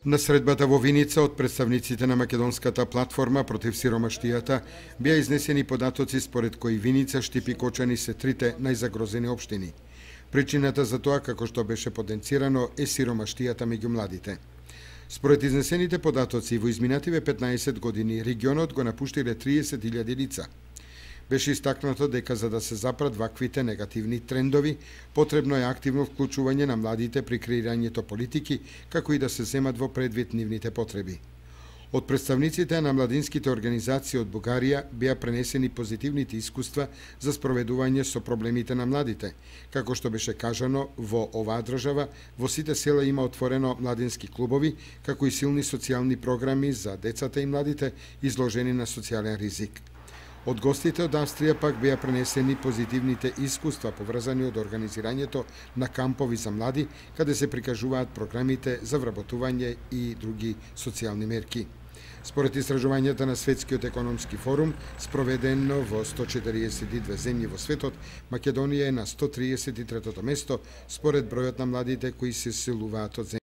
На средбата во Виница од представниците на Македонската платформа против сиромаштијата беа изнесени податоци според кои Виница, Штип и Кочани се трите најзагрозени општини. Причината за тоа, како што беше потенцирано, е сиромаштијата меѓу младите. Според изнесените податоци, во изминативе 15 години регионот го напуштиле 30.000 лица. Беше истакнато дека за да се запрат ваквите негативни трендови, потребно е активно вклучување на младите при креирањето политики, како и да се земат во предвид нивните потреби. Од представниците на младинските организации од Бугарија беа пренесени позитивните искуства за спроведување со проблемите на младите. Како што беше кажано, во оваа држава во сите села има отворено младински клубови, како и силни социјални програми за децата и младите изложени на социјален ризик. Од гостите од Австрија пак беа пренесени позитивните искуства поврзани од организирањето на кампови за млади, каде се прикажуваат програмите за вработување и други социјални мерки. Според истражувањата на Светскиот економски форум, спроведено во 142 земји во светот, Македонија е на 133-то место според бројот на младите кои се селуваат од земјата.